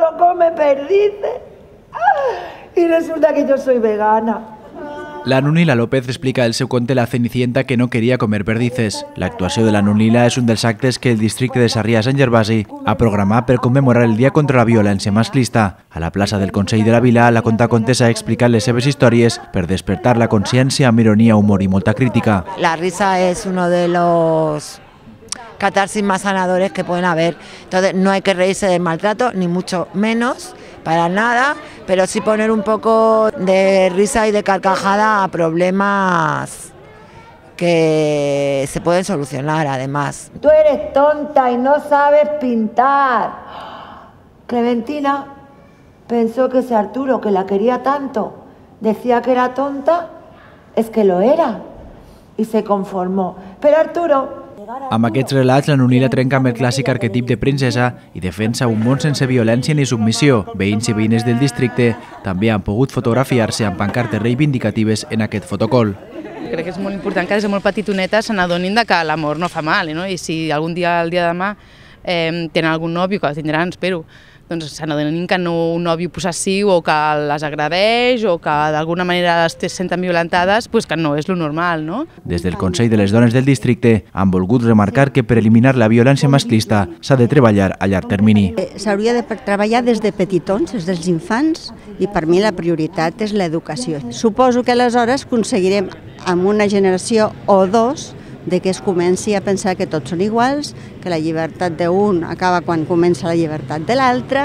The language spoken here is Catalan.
solo come perdices. Y resulta que yo soy vegana. La Nunila López explica el seu conte La Cenicienta que no queria comer perdices. L'actuació de la Nunila és un dels actes que el districte de Sarrià-Sant Gervasi ha programat per commemorar el Dia contra la Violència Masclista. A la plaça del Consell de la Vila, la contacontes ha explicat les seves històries per despertar la consciència amb ironia, humor i molta crítica. La risa es uno de los catarsis más sanadores que pueden haber. Entonces no hay que reírse del maltrato, ni mucho menos, para nada, pero sí poner un poco de risa y de carcajada a problemas que se pueden solucionar además. Tú eres tonta y no sabes pintar. Clementina pensó que ese Arturo, que la quería tanto, decía que era tonta, es que lo era, y se conformó. Pero Arturo... Amb aquests relats, la Nunila trenca amb el clàssic arquetip de princesa i defensa un món sense violència ni submissió. Veïns i veïnes del districte també han pogut fotografiar-se amb pancartes reivindicatives en aquest fotocol. Crec que és molt important que des de molt petitonetes se n'adonin que l'amor no fa mal, no? I si algun dia, el dia de demà, tenen algun nòvio, que el tindran, espero, doncs se n'adonin que no un nòvio possessiu o que les agredeix o que d'alguna manera es senten violentades, doncs que no és lo normal, no? Des del Consell de les Dones del Districte han volgut remarcar que per eliminar la violència masclista s'ha de treballar a llarg termini. S'hauria de treballar des de petitons, des dels infants, i per mi la prioritat és l'educació. Suposo que aleshores aconseguirem amb una generació o dos de que es comenci a pensar que tots són iguals, que la llibertat d'un acaba quan comença la llibertat de l'altre.